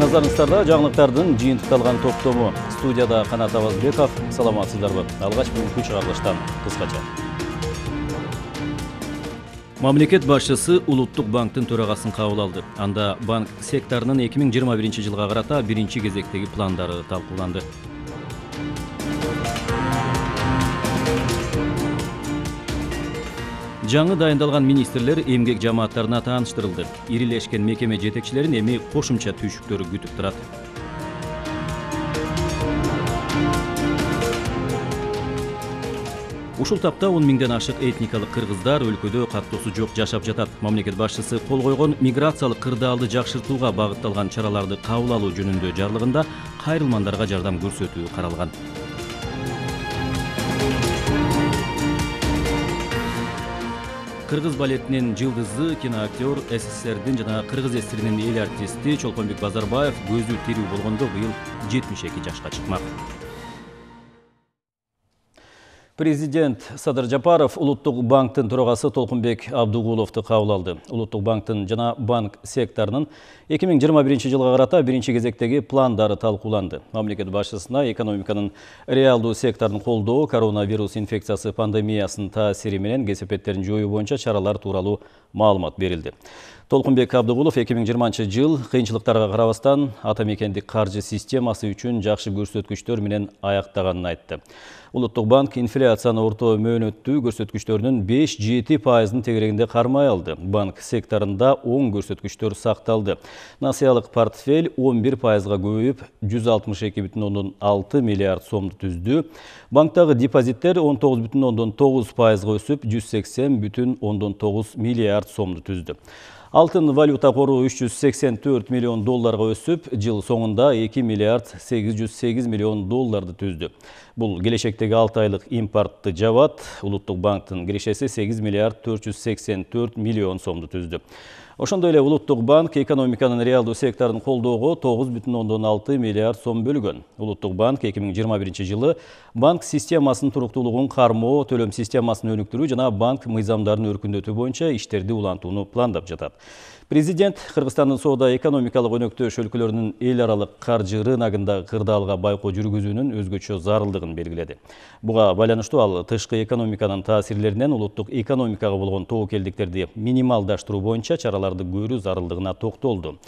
Назарыңыздарда жаңылыктардын жыйынтыкталган топтому. Студияда Канат Абазбеков. Саламатсыздарбы? Алгач бүгүнкү чыгарылыштан кыскача. Мамлекет башчысы Улуттук банктын төрагасын кабыл алды. Анда банк секторунун 2021 жылга карата биринчи кезектеги пландары талкууланды. Жаңы дайындалган министрлер эмгек жамааттарына тааныштырылды. Ирилешкен мекеме жетекчилерин эми кошумча түйшүктөр күтүп турат. Ушул тапта 10 миңден ашык этникалык кыргыздар өлкөдө каттоосу жок жашап жатат. Мамлекет башчысы кол койгон миграциялык кырдаалды жакшыртууга багытталган чараларды кабыл алуу жөнүндө жарлыгында кайрылмандарга жардам көрсөтүү каралган. Кыргыз балетинин жылдызы киноактер, СССРдин жана кыргыз эсиринин эл артисти Чолпонбек Базарбаев көзү тирүү болгондо быйыл 72 жашка чыкмак. Президент Садыр Жапаров Улуттук банктын төрагасы Толкунбек Абдугуловду кабыл алды. Улуттук банктын жана банк секторунун 2021 жылга карата биринчи кезектеги пландары талкууланды. Мамлекет башчысына экономиканын реалдуу секторун колдоо, коронавирус инфекциясы пандемиясынын таасири менен кесепеттерин жоюу боюнча чаралар тууралуу маалымат берилди. Толкунбек Абдугулов 2020 жыл кыйынчылыктарга карабастан ата мекендик каржы системасы үчүн жакшы көрсөткүчтөр менен аяктаганын айтты. Улуттук банк инфляцияны орто мөөнөттүү көрсөткүчтөрүнүн 5-7% тегерегинде кармай алды. Банк секторунда оң көрсөткүчтөр сакталды. Насыялык портфель 11%га көбөйүп 162,6 миллиард сомду түздү. Банктагы депозиттер 19,9%га өсүп 180,9 миллиард сомду түздү. Алтын валюта кору 384 миллион долларга өсүп, жыл соңунда 2 миллиард 808 миллион долларды түздү. Бул келечектеги 6 айлык импортты жабат. Улуттук банктын кирешеси 8 миллиард 484 миллион сомду түздү. Ошондой эле Улуттук банк экономиканын реалдуу секторун колдоого 9,6 миллиард сом бөлгөн. Улуттук банк 2021 жылы банк системасынын туруктуулугун кармоо, төлөм системасын өнүктүрүү жана банк мыйзамдарын өркүндөтүү боюнча иштерди улантууну пландап жатат. Президент Кыргызстандын соода экономикалык өнөктөш өлкөлөрүнүн эл аралык каржы рыногундагы кырдаалга байкоо жүргүзүүнүн өзгөчө зарылдыгын белгиледи. Буга байланыштуу ал тышкы экономиканын таасирлеринен улуттук экономикага болгон тобокелдиктерди минималдаштыруу боюнча чараларды көрүү зарылдыгына токтолду.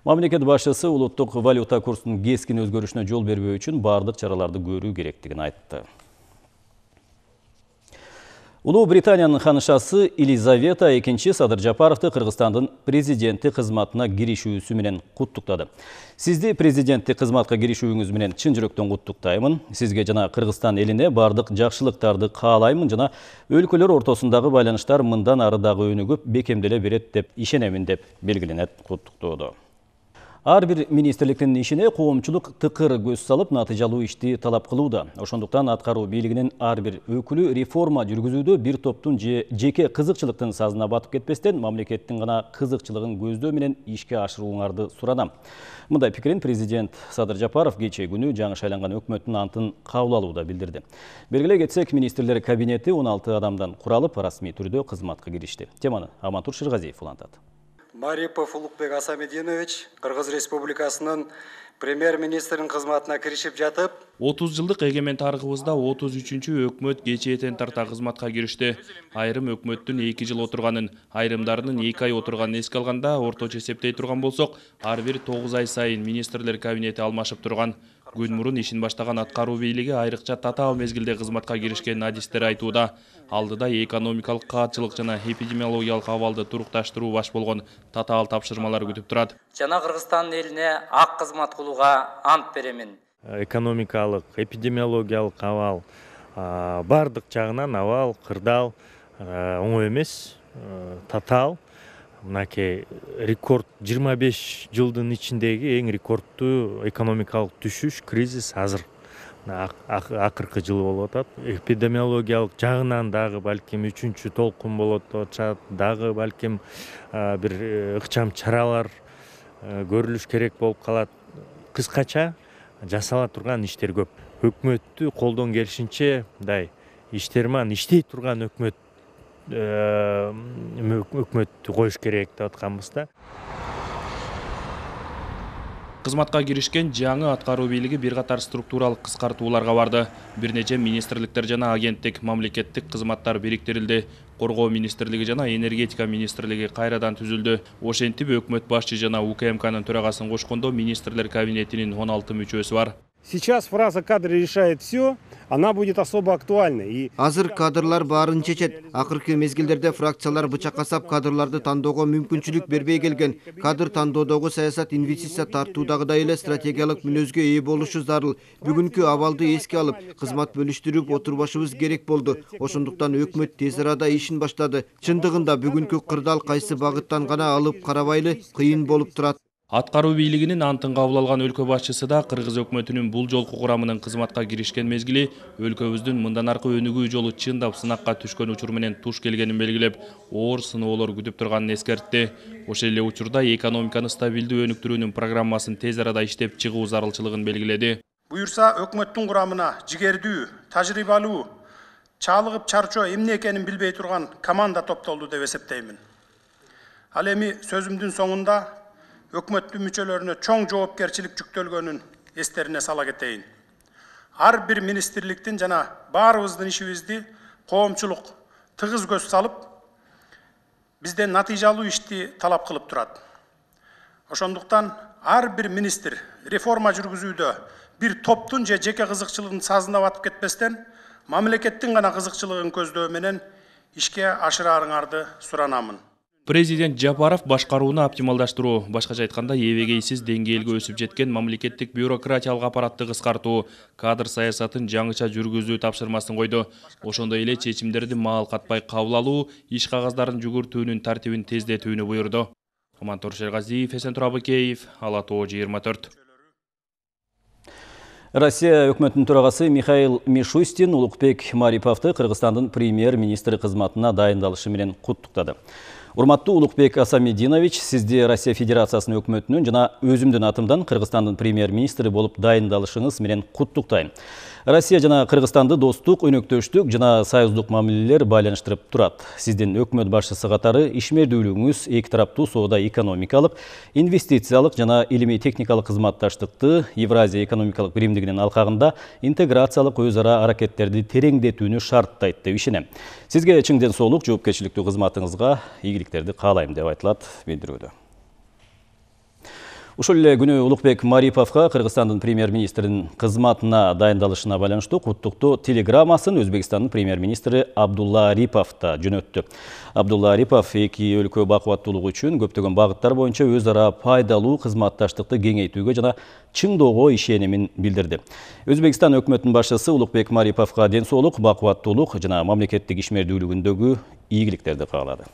Мамлекет башчысы улуттук валюта курсунун кескин өзгөрүшүнө жол бербөө үчүн бардык чараларды көрүү керектигин айтты. Улуу Британиянын ханышасы Елизавета II Садыр Жапаровду Кыргызстандын президенти кызматына киришүүсү менен куттуктады. Сизди президенттик кызматка киришүүңүз менен чын жүрөктөн куттуктаймын. Сизге жана Кыргызстан элине бардык жакшылыктарды каалаймын жана өлкөлөр ортосундагы байланыштар мындан ары дагы өнүгүп, бекемделе берет деп ишенемин деп белгиленет куттуктоодо. Ар бир министрликтин ишине коомчулук тыкыр көз салып, натыйжалуу ишти талап кылууда. Ошондуктан аткаруу бийлигинин ар бир өкүлү реформа жүргүзүүдө бир топтун жеке кызыкчылыктын сазына батып кетпестен, мамлекеттин гана кызыкчылыгын көздөө менен ишке ашырууңарды суранам. Мындай пикирин президент Садыр Жапаров кечээ күнү жаңы шайланган өкмөттүн антын кабыл алууда билдирди. Белгилей кетсек, министрлер кабинети 16 адамдан куралып, расмий түрдө кызматка киришти. Теманы Амантур Шыргазиев улантат. Марипов Улукбек Асамединович Кыргыз Республикасынын премьер-министринин кызматына киришип жатып, 30 жылдык эгемен тарыхыбызда 33-чү өкмөт кечээден тарта кызматка киришти. Айрым өкмөттүн 2 жыл отурганын, айрымдарынын 2 ай отурганын эске алганда, орточо эсептей турган болсок, ар бир 9 ай сайын министрлер кабинети алмашып турган. Күн мурун ишин баштаган аткаруу бийлиги айрыкча татаал мезгилде кызматка киришкенин адистер айтууда. Алдыда экономикалык каатчылык жана эпидемиологиялык абалды турукташтыруу баш болгон татаал тапшырмалар күтүп турат. Жана Кыргызстандын элине ак кызмат кылууга ант беремин. Экономикалык, эпидемиологиялык абал бардык жагынан абал, кырдаал, оңой эмес, татаал. Мынакей рекорд 25 жылдын ичиндеги эң рекордтуу экономикалык түшүш, кризис азыр. Акыркы жыл болуп атат. Эпидемиологиялык жагынан дагы балким 3-чү толкун болот атат, дагы балким бир ыкчам чаралар көрүлүш керек болуп калат. Кыскача жасала турган иштер көп. Өкмөттү колдон келишинче мындай иштерман иштей турган өкмөт өкмөттү коюш керек деп атканбыз да. Кызматка киришкен жаңы аткаруу бийлиги бир катар структуралык кыскартууларга барды. Бир нече министрликтер жана агенттик, мамлекеттик кызматтар бириктирилди. Коргоо министрлиги жана энергетика министрлиги кайрадан түзүлдү. Ошентип өкмөт башчы жана УКМКнын төрагасын кошкондо министрлер кабинетинин 16 мүчөсү бар. Сейчас фраза «кадры решает все», она будет особо актуальной. Азыр кадрлар баарын чечет. Акыркы мезгилдерде фракциялар бычакка сап кадрларды тандоого мүмкүнчүлүк бербей келген. Кадр тандоодогу саясат инвестиция тартуудагыдай эле стратегиялык мүнөзгө ээ болушу зарыл. Бүгүнкү абалды эске алып, кызмат бөлүштүрүп отурбашыбыз керек болду. Ошондуктан өкмөт тез арада ишин баштады. Чындыгында бүгүнкү кырдаал кайсы багыттан гана алып карабайлы кыйын болуп турат. Аткаруу бийлигинин антын кабыл алган өлкө башчысы да кыргыз өкмөтүнүн бул жолку курамынын кызматка киришкен мезгили өлкөбүздүн мындан аркы өнүгүү жолу чындап сынакка түшкөн учур менен туш келгенин белгилеп, оор сыноолор күтүп турганын эскертти. Ошол эле учурда экономиканы стабилдүү өнүктүрүүнүн программасын тез арада иштеп чыгуу зарылчылыгын белгиледи. Буюрса өкмөттүн курамына жигердүү, тажрыйбалуу, чалыгып чарчоо эмне экенин билбей турган команда топтолду деп эсептеймин. Ал эми сөзүмдүн соңунда өкмөттүн мүчөлөрүнө чоң жоопкерчилик жүктөлгөнүн эстерине сала кетейин. Ар бир министрликтин жана баарыбыздын ишибизди коомчулук тыгыз көз салып, бизден натыйжалуу ишти талап кылып турат. Ошондуктан ар бир министр реформа жүргүзүүдө бир топтун же жеке кызыкчылыгын сазына батып кетпестен, мамлекеттин гана кызыкчылыгын көздөө менен ишке ашыраарыңарды суранамын. Президент Жапаров башкарууну оптималдаштыруу, башкача айтканда эбегейсиз деңгээлге өсүп жеткен мамлекеттик бюрократиялык аппаратты кыскартуу, кадр саясатын жаңыча жүргүзүү тапшырмасын койду. Ошондой эле чечимдерди маал катпай кабыл алуу, иш кагаздарын жүгүртүүнүн тартибин тездетүүнү буйрду. Амантур Шергазиев, Эсентур Абыкеев, Ала Тоо 24. Россия өкмөтүнүн төрагасы Михаил Мишустин Улукбек Мариповду Кыргызстандын премьер-министри кызматына дайындалышы менен куттуктады. Урматтуу Улукбек Асамединович, сизди Россия Федерациясынын өкмөтүнүн жана өзүмдүн атымдан Кыргызстандын премьер-министри болуп дайындалышыңыз менен куттуктайм. Россия жана Кыргызстанды достук, өнөктөштүк жана союздук мамилелер байланыштырып турат. Сиздин өкмөт башчысы катары ишмердүүлүгүңүз эки тараптуу соода экономикалык, инвестициялык жана илимий техникалык кызматташтыкты Евразия экономикалык биримдигинин алкагында интеграциялык өз ара аракеттерди тереңдетүүнү шарттайт деп ишенем. Сизге чың ден соолук, жоопкерчиликтүү кызматыңызга ийгиликтерди каалайм деп айтылат билдирүүдө. Ушул эле күнү Улукбек Мариповго Кыргызстандын премьер-министринин кызматына дайындалышына байланыштуу куттуктуу телеграммасын Өзбекстандын премьер-министри Абдулла Арипов да жөнөттү. Абдулла Арипов эки өлкө бакубаттуулугу үчүн көптөгөн багыттар боюнча өз ара пайдалуу кызматташтыкты кеңейтүүгө жана чыңдоого ишенимин билдирди. Өзбекстан өкмөтүнүн башчысы Улукбек Мариповго ден соолук, бакубаттуулук жана мамлекеттик ишмердүүлүгүндөгү ийгиликтерди каалады.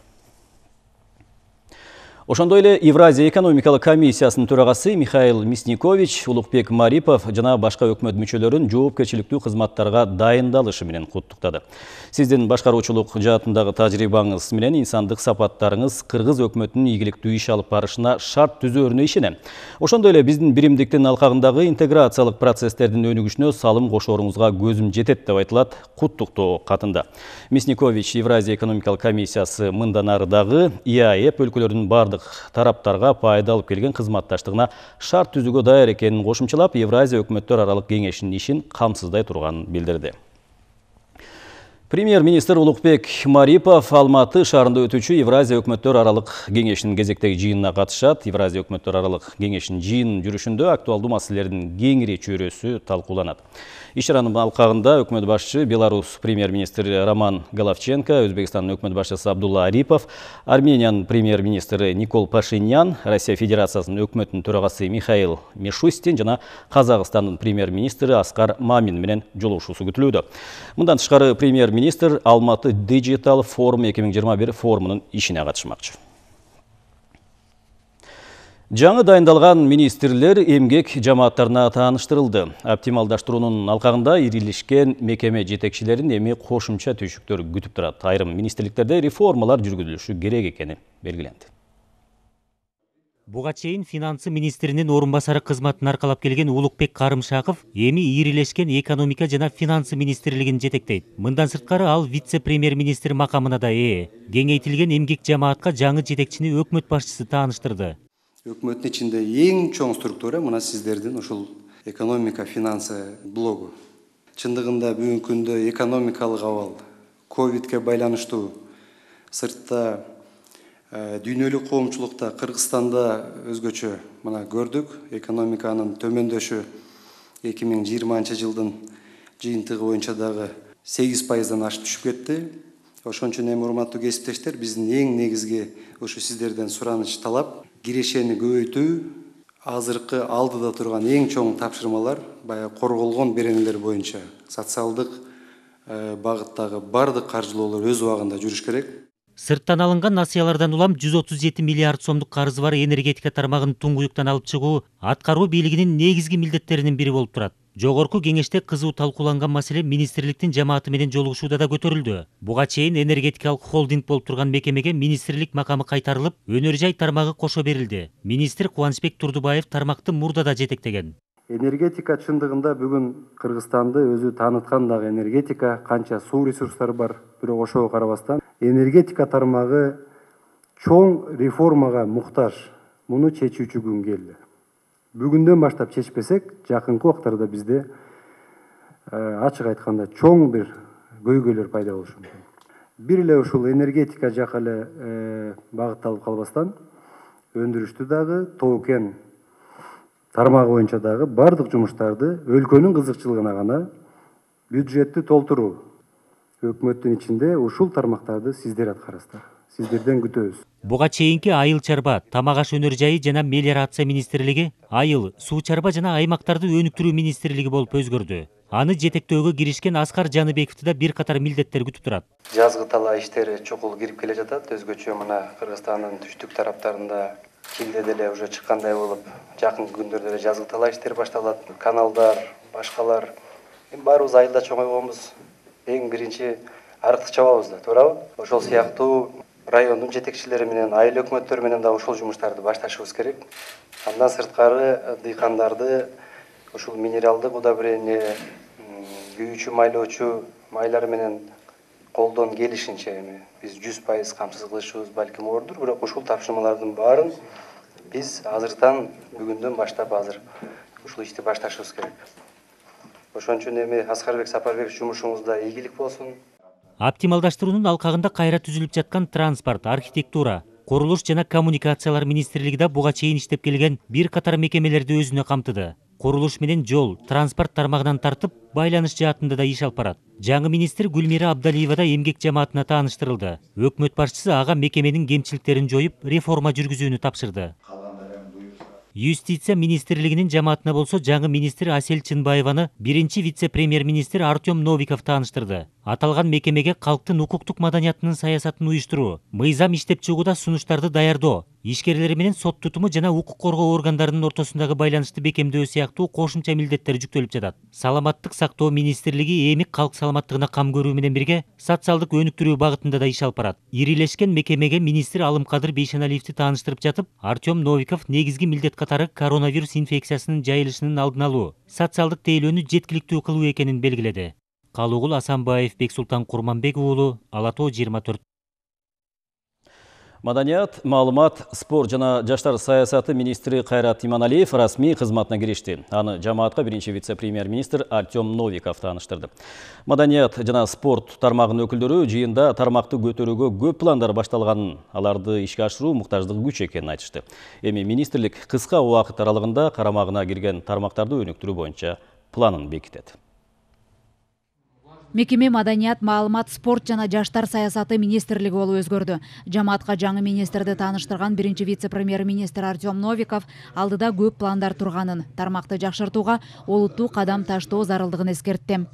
Ошондой эле Евразия экономикалык комиссиясынын төрагасы Михаил Мясникович Улукбек Марипов жана башка өкмөт мүчөлөрүн жоопкерчиликтүү кызматтарга дайындалышы менен куттуктады. Сиздин башкаруучулук жаатындагы тажрыйбаңыз менен инсандык сапаттарыңыз кыргыз өкмөтүнүн ийгиликтүү иш алып барышына шарт түзөөрүнө ишенем. Ошондой эле биздин биримдиктин алкагындагы интеграциялык процесстердин өнүгүшүнө салым кошооруңузга көзүм жетет деп айтылат куттуктоо катында. Мясникович Евразия экономикалык комиссиясы мындан ары дагы ИАЭП өлкөлөрүнүн бардык тараптарга пайда алып келген кызматташтыгына шарт түзүүгө даяр экенин кошумчалап, Евразия өкмөттөр аралык кеңешинин ишин камсыздай турганын билдирди. Премьер-министр Улукбек Марипов Алматы шаарында өтүүчү Евразия өкмөттөр аралык кеңешинин кезектеги жыйынына катышат. Евразия өкмөттөр аралык кеңешинин жыйын жүрүшүндө актуалдуу маселелердин кеңири чөйрөсү талкууланат. Иш чаранын алкагында өкмөт башчы Беларусь премьер-министри Роман Головченко, Өзбекстандын өкмөт башчысы Абдулла Арипов, Армениянын премьер-министри Никол Пашинян, Россия Федерациясынын өкмөтүнүн төрагасы Михаил Мишустин жана Казакстандын премьер-министри Аскар Мамин менен жолугушуусу күтүлүүдө. Мындан тышкары премьер-министр Алматы Digital Forum 2021 форумунун ишине катышмакчы. Жаңы дайындалган министрлер эмгек жамааттарына тааныштырылды. Оптималдаштыруунун алкагында ирилишкен мекеме жетекчилерин эми кошумча түйшүктөр күтүп турат. Айрым министрликтерде реформалар жүргүзүлүшү керек экени белгиленди. Буга чейин финансы министринин орун басары кызматын аркалап келген Улукбек Карымшаков эми ирилешкен экономика жана финансы министрлигин жетектейт. Мындан сырткары ал вице-премьер-министр макамына да ээ. Кеңейтилген эмгек жамаатка жаңы жетекчини өкмөт башчысы тааныштырды. Өкмөттүн ичинде эң чоң структура мына сиздердин ушул экономика финансы блогу. Чындыгында бүгүнкү күндө экономикалык абал ковидке байланыштуу сыртта дүйнөлүк коомчулукта Кыргызстанда өзгөчө мына көрдүк. Экономиканын төмөндөшү 2020 жылдын жыйынтыгы боюнча дагы 8%-дан ашып түшүп кетти. Ошон үчүн эми урматтуу кесиптештер, биздин эң негизги ушу сиздерден сураныч талап кирешени көбөйтүү, азыркы алдыда турган эң чоң тапшырмалар баягы корголгон беренелер боюнча социалдык багыттагы бардык каржылоолор өз убагында жүрүш керек. Сырттан алынган насыялардан улам 137 миллиард сомдук карызы бар энергетика тармагын туңгуюктан алып чыгуу аткаруу бийлигинин негизги милдеттеринин бири болуп турат. Жогорку кеңеште кызуу талкууланган маселе министрликтин жамааты менен жолугушууда да көтөрүлдү. Буга чейин энергетикалык холдинг болуп турган мекемеге министрлик макамы кайтарылып, өнөр жай тармагы кошо берилди. Министр Кубанычбек Турдубаев тармакты мурда да жетектеген. Энергетика чындыгында бүгүн Кыргызстанды өзү тааныткан дагы энергетика, канча суу ресурстары бар, бирок ошого карабастан энергетика тармагы чоң реформага муктаж. Муну чечүүчү күн келди. Бүгүндөн баштап чечпесек, жакынкы убактарда бизде ачык айтканда чоң бир көйгөйлөр пайда болушу мүмкүн. Бир эле ушул энергетика жакка эле багытталып калбастан, өндүрүштү дагы, тоо-кен тармагы боюнча дагы бардык жумуштарды өлкөнүн кызыкчылыгына гана бюджетти толтуруу. Өкмөттүн ичинде ушул тармактарды сиздер аткарасыздар. Сиздерден күтөбүз. Буга чейинки айыл чарба, тамак аш өнөр жайы жана мелиорация министрлиги, айыл, суу чарба жана аймактарды өнүктүрүү министрлиги болуп өзгөрдү. Аны жетектөөгө киришкен Аскар Жаныбековду да бир катар милдеттер күтүп турат. Жазгы талаа иштери чокул кирип келе жатат. Өзгөчө мына Кыргызстандын түштүк тараптарында Килде деле уже чыккандай болуп, жакынкы күндөрдө эле жазгы талаа иштери башталат. Каналдар, башкалар. Баарыбыз айылда чоңойгонбуз. Эң биринчи арыкты чабабыз да, туурабы? Ошол сыяктуу райондун жетекчилери менен, айыл өкмөттөр менен да ушул жумуштарды башташыбыз керек. Андан сырткары дыйкандарды ушул минералдык удобрение, күйүүчү майлоочу майлар менен колдон келишинче эми биз 100% камсыз кылышыбыз балким ордур, бирок ушул тапшырмалардын баарын биз азыртан бүгүндөн баштап азыр ушул ишти башташыбыз керек. Ошон үчүн эми Аскарбек Сапарбекович жумушуңузда ийгилик болсун. Оптималдаштыруунун алкагында кайра түзүлүп жаткан транспорт, архитектура, курулуш жана коммуникациялар министрлиги да буга чейин иштеп келген бир катар мекемелерди өзүнө камтыды. Курулуш менен жол, транспорт тармагынан тартып, байланыш жаатында да иш алып барат. Жаңы министр Гүлмира Абдалиева да эмгек жамаатына тааныштырылды. Өкмөт башчысы ага мекеменин кемчиликтерин жоюп, реформа жүргүзүүнү тапшырды. Юстиция министрлигинин жамаатына болсо жаңы министр Асель Чынбаеваны биринчи вице-премьер-министр Артем Новиков тааныштырды. Аталган мекемеге калктын укуктук маданиятынын саясатын уюштуруу, мыйзам иштеп чыгууда сунуштарды даярдоо, ишкерлер менен сот тутуму жана укук коргоо органдарынын ортосундагы байланышты бекемдөө сыяктуу кошумча милдеттер жүктөлүп жатат. Саламаттык сактоо министрлиги эми калк саламаттыгына кам көрүү менен бирге социалдык өнүктүрүү багытында да иш алып барат. Ирилешкен мекемеге министр Алымкадыр Бейшеналиевди тааныштырып жатып, Артем Новиков негизги милдет катары коронавирус инфекциясынын жайылышынын алдын алуу, социалдык тейлөөнү жеткиликтүү кылуу экенин белгиледи. Калугул Асанбаев, Бексултан Курманбек уулу, Ала Тоо 24. Маданият, маалымат, спорт жана жаштар саясаты министри Кайрат Иманалиев расмий кызматына киришти. Аны жамаатка биринчи вице-премьер-министр Артем Новиков тааныштырды. Маданият жана спорт тармагынын өкүлдөрү жыйында тармакты көтөрүүгө көп пландар башталганын, аларды ишке ашыруу муктаждыгы күч экенин айтышты. Эми министрлик кыска убакыт аралыгында карамагына кирген тармактарды өнүктүрүү боюнча планын бекитет. Мекеме маданият, маалымат, спорт жана жаштар саясаты министрлиги болуп өзгөрдү. Жамаатка жаңы министрди тааныштырган биринчи вице-премьер-министр Артем Новиков алдыда көп пландар турганын, тармакты жакшыртууга олуттуу кадам таштоо зарылдыгын эскертти.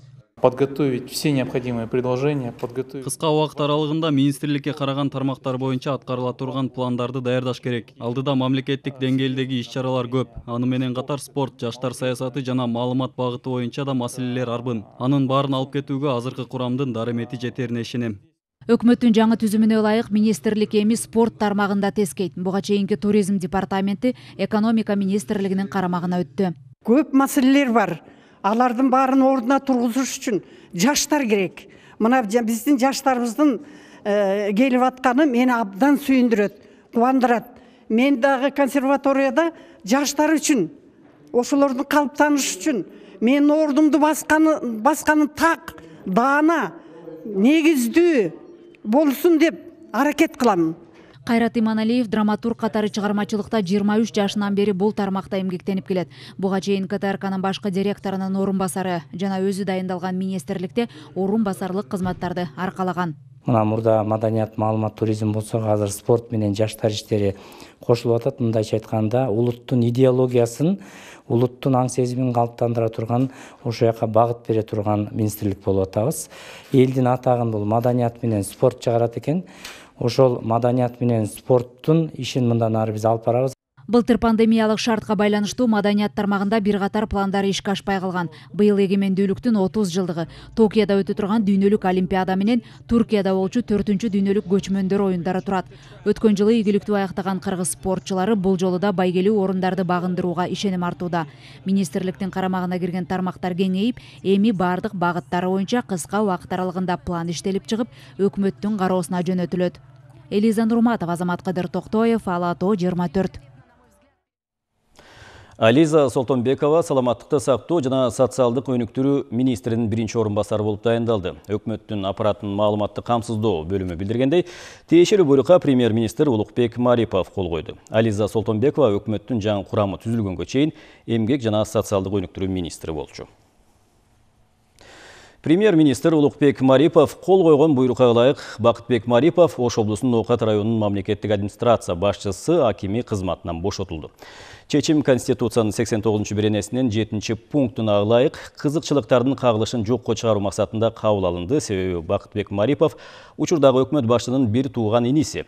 Подготовить все необходимые предложения, Кыска убакыт аралыгында министрликке караган тармактар боюнча аткарыла турган пландарды даярдаш керек. Алдыда мамлекеттик деңгээлдеги иш-чаралар көп. Аны менен катар спорт, жаштар саясаты жана маалымат багыты боюнча да маселелер арбын. Анын баарын алып кетүүгө азыркы курамдын дарымети жетерине ишенем. Өкмөттүн жаңы түзүмүнө ылайык министрлик эми спорт тармагында тескейт. Буга чейинки туризм департаменти экономика министрлигинин карамагына өттү. Көп маселелер бар. Алардын баарын ордуна тургузуш үчүн жаштар керек. Мына биздин жаштарыбыздын келип атканы мени абдан сүйүндүрөт, кубандырат. Мен дагы консерваторияда жаштар үчүн, ошолордун калыптанышы үчүн менин ордумду басканы так, даана, негиздүү болсун деп аракет кылам. Кайрат Иманалиев драматург катары чыгармачылыкта 23 жашынан бери бул тармакта эмгектенип келет. Буга чейин КТРКнын башкы директорунун орун басары жана өзү дайындалган министрликте орун басарлык кызматтарды аркалаган. Мына мурда маданият, маалымат, туризм болсо, азыр спорт менен жаштар иштери кошулуп атат. Мындайча айтканда, улуттун идеологиясын, улуттун аң сезимин калыптандыра турган, ошол жака багыт бере турган министрлик болуп атабыз. Элдин атагын бул маданият менен спорт чыгарат экен. Ошол маданият менен спорттун ишин мындан ары биз алып барабыз. Былтыр пандемиялык шартка байланыштуу маданият тармагында бир катар пландар ишке ашпай калган. Быйыл эгемендүүлүктүн 30 жылдыгы, Токиодо өтө турган дүйнөлүк олимпиада менен Туркияда болчу 4-үнчү дүйнөлүк көчмөндөр оюндары турат. Өткөн жылы ийгиликтүү аяктаган кыргыз спортчулары бул жолу да байгелүү орундарды багындырууга ишеним артууда. Министрликтин карамагына кирген тармактар кеңейип, эми бардык багыттары боюнча кыска убакыт аралыгында план иштелип чыгып, өкмөттүн кароосуна жөнөтүлөт. Элиза Нурматова, Азамат Кадыр Токтоев, Ала-Тоо 24. Ализа Солтонбекова саламаттыкты сактоо жана социалдык өнүктүрүү министринин биринчи орун басары болуп дайындалды. Өкмөттүн аппаратынын маалыматтык камсыздоо бөлүмү билдиргендей, тиешелүү буйрукка премьер-министр Улукбек Марипов кол койду. Ализа Солтонбекова өкмөттүн жаңы курамы түзүлгөнгө чейин эмгек жана социалдык өнүктүрүү министри болчу. Премьер-министр Улукбек Марипов кол койгон буйрукка ылайык Бакытбек Марипов Ош облусунун Ноокат районунун мамлекеттик администрация башчысы акими кызматынан бошотулду. Чечим Конституциянын 89-беренесинин 7-пунктуна ылайык кызыкчылыктардын кагылышын жокко чыгаруу максатында кабыл алынды. Себеби Бакытбек Марипов учурдагы өкмөт башчынын бир тууган иниси.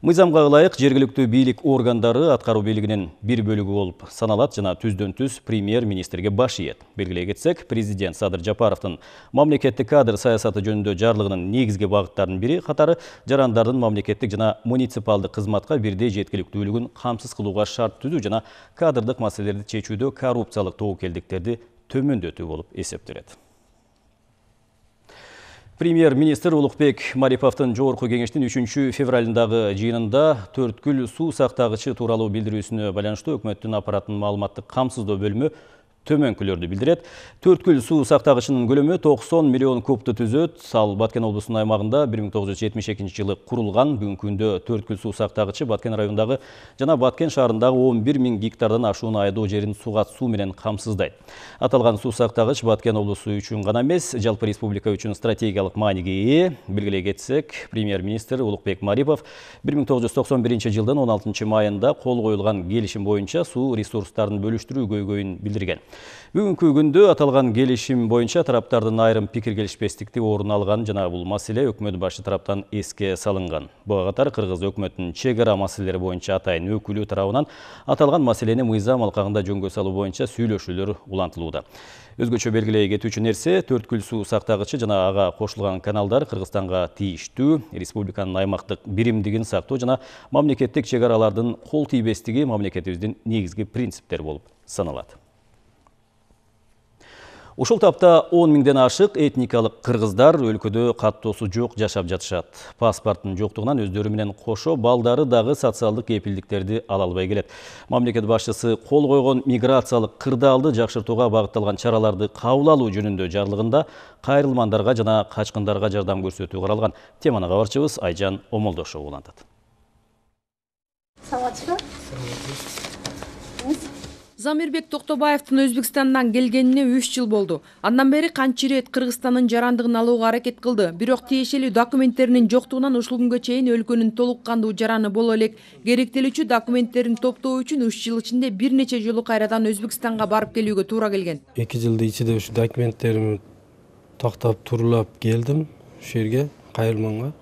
Мыйзамга ылайык жергиликтүү бийлик органдары аткаруу бийлигинин бир бөлүгү болуп саналат жана түздөн-түз премьер-министрге баш ийет. Белгилей кетсек, президент Садыр Жапаровдун мамлекеттик кадр саясаты жөнүндө жарлыгынын негизги багыттарынын бири катары жарандардын мамлекеттик жана муниципалдык кызматка бирдей жеткиликтүүлүгүн камсыз кылууга шарт түзүү жана кадрдык маселелерди чечүүдө коррупциялык тобокелдиктерди төмөндөтүү болуп эсептелет. Премьер-министр Улукбек Мариповдун жогорку кеңештин 3-февралындагы жыйынында Төрткүл суу сактагычы тууралуу билдирүүсүнө байланыштуу өкмөттүн аппаратынын маалыматтык камсыздоо бөлүмү төмөнкүлөрдү билдирет. Төрткүл суу сактагычынын көлөмү 90 миллион кубту түзөт. Ал Баткен облусунун аймагында 1972 жылы курулган. Бүгүнкү күндө Төрткүл суу сактагычы Баткен районундагы жана Баткен шаарындагы 11 000 гектардан ашуун айдоо жерин суга суу менен камсыздайт. Аталган суу сактагыч Баткен облусу үчүн гана эмес, жалпы республика үчүн стратегиялык мааниге ээ. Белгилей кетсек, премьер-министр Улукбек Марипов 1991 жылдын 16 майында кол коюлган келишим боюнча суу ресурстарын бөлүштүрүү көйгөйүн билдирген. Бүгүнкү күндө аталган келишим боюнча тараптардын айрым пикир келишпестикти орун алган жана бул маселе өкмөт башы тараптан эске салынган. Буга катар Кыргыз өкмөтүнүн чек ара маселелери боюнча атайын өкүлү тарабынан аталган маселени мыйзам алкагында жөнгө салуу боюнча сүйлөшүүлөр улантылууда. Өзгөчө белгилей кетүүчү нерсе, Төрткүл суу сактагычы жана ага кошулган каналдар Кыргызстанга тийиштүү, республиканын аймактык биримдигин сактоо жана мамлекеттик чек аралардын кол тийбестиги мамлекетибиздин негизги принциптери болуп саналат. Ушул тапта 10 миңден ашык этникалык кыргыздар өлкөдө каттоосу жок жашап жатышат. Паспорттун жоктугунан өздөрү менен кошо балдары дагы социалдык кепилдиктерди ала албай келет. Мамлекет башчысы кол койгон миграциялык кырдаалды жакшыртууга багытталган чараларды кабыл алуу жөнүндө жарлыгында кайрылмандарга жана качкындарга жардам көрсөтүү каралган. Теманы кабарчыбыз Айжан Омолдошова улантат. Замирбек Токтобаевдин Өзбекстандан келгенине 3 жыл болду. Андан бери канча ирет Кыргызстандын жарандыгын алууга аракет кылды. Бирок тиешелүү документтеринин жоктугунан ушул күнгө чейин өлкөнүн толук кандуу жараны боло элек. Керектелүүчү документтерин топтоо үчүн 3 жыл ичинде бир нече жолу кайрадан Өзбекстанга барып келүүгө туура келген. 2 жылдын ичинде ушу документтеримди токтоп турулап келдим ушул жерге, Кайрылманга.